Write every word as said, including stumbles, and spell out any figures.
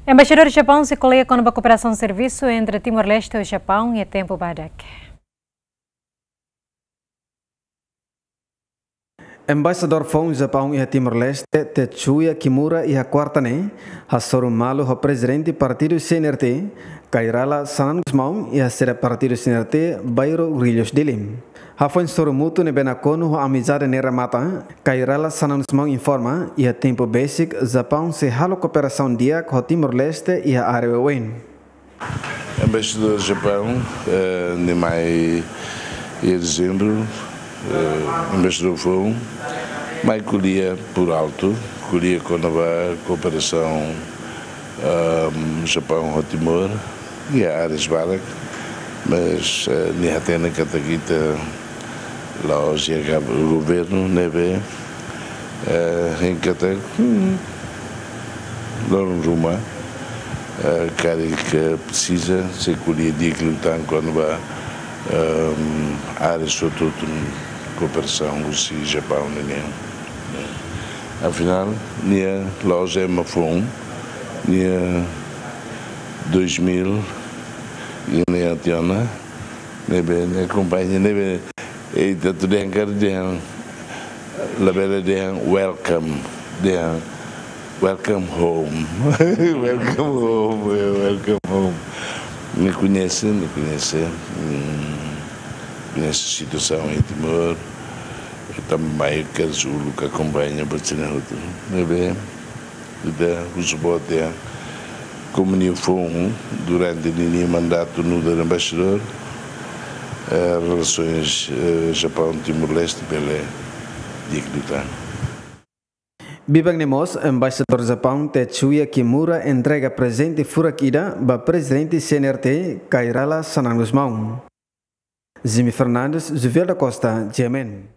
Embaixadór Japaun sei ko'alia kona-ba kooperasaun servisu entre Timor-Leste ho Japaun iha tempu badak. Embaixadór foun Japaun iha Timor-Leste, Tetsuya Kimura, iha kuarta ne'e hasoru malu ho Prezidente Partidu C N R T, Kay Rala Xanana Gusmão, iha sede Partidu C N R T, Bairro Guarulhos, Dili. Hafoin sorumutu ne'ebé nakonu ho amizade ne'e remata, Kay Rala Xanana Gusmão informa, iha tempu besik, Japaun sei halo kooperasaun di'ak ho Timor-Leste iha área oioin. Embaixadór Japaun, eh, nia mai iha dezembru, eh, embaixadór foun, mai ko'alia por alto, ko'alia kona-ba kooperasaun, ehm, Japaun ho Timor, iha áreas barak, mas, eh, nia hatene katak ita la'ós iha gab-, governu ne'ebé, eh, hein katak, hmm, loron ruma, eh, karik presiza, sei ko'alia di'ak liután kona-ba, ehm, áreas hotu-hotu kooperasaun husi Japaun nian. Afinál, nia la'ós ema foun, nia dois mil, nia tiha ona, ne'ebé, nia akompaña, ne'ebé, eh, ita atu dehan karik dehan, labele dehan welcome, dehan welcome home. Welcome home, eh, welcome home. Nia koñese, nia koñese, hmm, koñese situasaun iha Timor, ita mai kedas uluk akompaña ba sira hotu. Ne'ebé, ita husu boot dehan, komu nia foun durante ninia mandatu nu'udar embaixadór, eh, relasoens, eh, Japaun-Timor-Leste bele di'ak liután. Biban ne'e mós, Embaixadór Japaun Tetsuya Kimura entrega prezente furak ida ba Prezidente C N R T, Kay Rala Xanana Gusmão. Jimmy Fernandes, Juvel da Costa, G M N.